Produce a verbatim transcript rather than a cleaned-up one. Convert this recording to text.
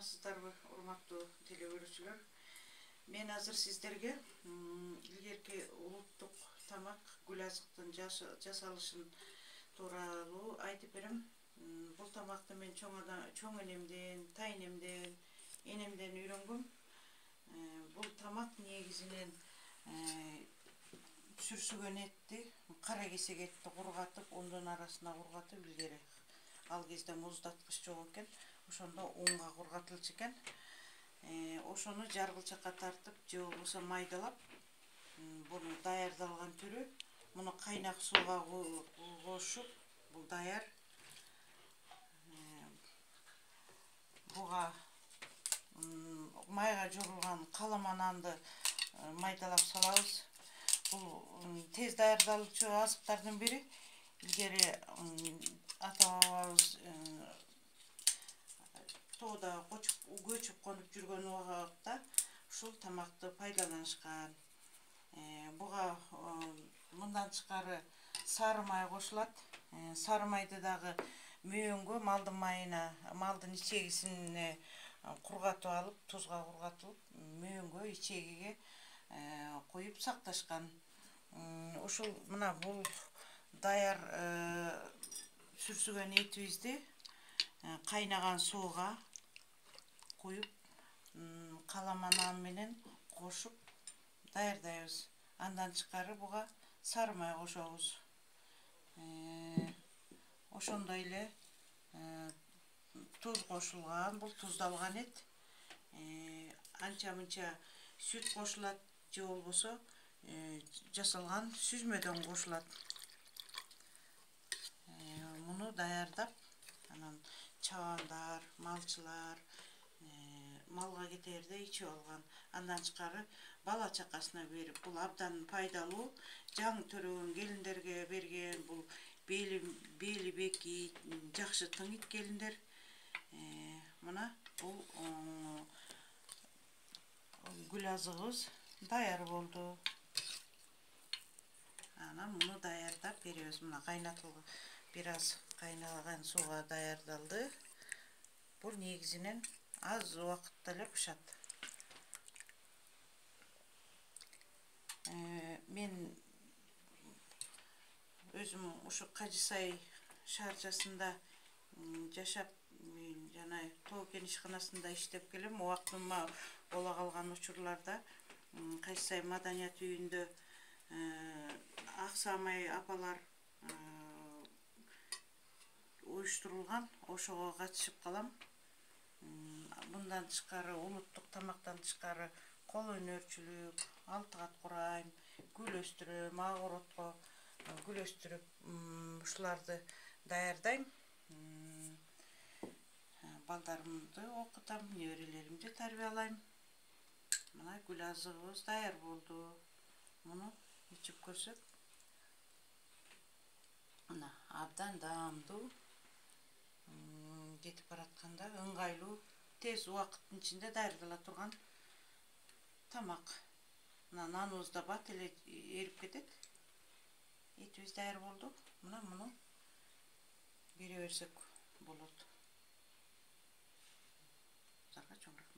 саламатсыздарбы, урматтуу теле көрүүчүлөр. Мен азыр сиздерге илгерки улуттук тамак гүл азыктын жасалышын тууралуу айтып берем. Бул тамакты мен чоң чоң энемден, тайнемден, энемден үйрөнгөм. Бул тамак негизинен сүрсүгөн этти, кара кесек этти кургатып, ондон арасына кургатып илгери. Ал кезде муздаткыч жок экен, ошондо унга кургатылчу экен. Ошону жаргылчакка тартып, же болбосо майдалап, буну даярдалган түрү. Муну кайнак сууга кошуп, бул даяр. Буга майга жорулган каламан нанды майдалап салабыз. Бул тез даярдалуучу азыктардын бири. Илгери ата бабабыз тоодо көчүп конуп жүргөн убакта ушул тамакты пайдаланышкан. Буга мындан тышкары сары май кошулат. Сары майды дагы мөөнгө, малдын майына, малдын ичегисине кургатып алып, тузга кургатылып, мөөнгө, ичегиге коюп сакташкан. Ушул мына бул даяр сүрсүгөн этибизди кайнаган сууга куюп, каламан нан менен кошуп даярдайбыз. Андан тышкары буга сары май кошобуз. Ошондой эле туз кошулган, бул туздалган эт. Анча мынча сүт кошулат, же болбосо жасалган сүзмөдөн кошулат. Муну даярдап, анан чабандар, малчылар малга кетээрде ичип алган. Андан тышкары бала чакасына берип, бул абдан пайдалуу. Жаңы төрөгөн келиндерге берген, бул бели бекит, жакшы тыңыйт келиндер. Мына бул гүл азыгыбыз даяр болду. Анан муну даярдап беребиз. Мына кайнатылган, бир аз кайнаган сууга даярдалды. Бул негизинен аз убакытта эле бышат. Мен өзүм ушу Кажы Сай шаарчасында жашап, жана тоо кен ишканасында иштеп келем. Убактыма бола калган учурларда Кажы Сай маданият үйүндө ак саамай апалар уюштурулган, ошого катышып калам. Мындан тышкары, улуттук тамактан тышкары кол өнөрчүлүк, алты кат курайм, гүл өстүрөм, огородко гүл өстүрүп, ушуларды даярдайм. Балдарымды окутам, неберелеримди тарбиялайм. Мына гүл азыгыбыз даяр болду. Муну ичип көрсөк, мына абдан даамдуу, кетип баратканда ыңгайлуу, тез убакыттын ичинде даярдала турган тамак. Мына наныбыз да бат эле эрип кетет. Этибиз даяр болду. Мына муну бере берсек болот. Зарга чоң рахмат.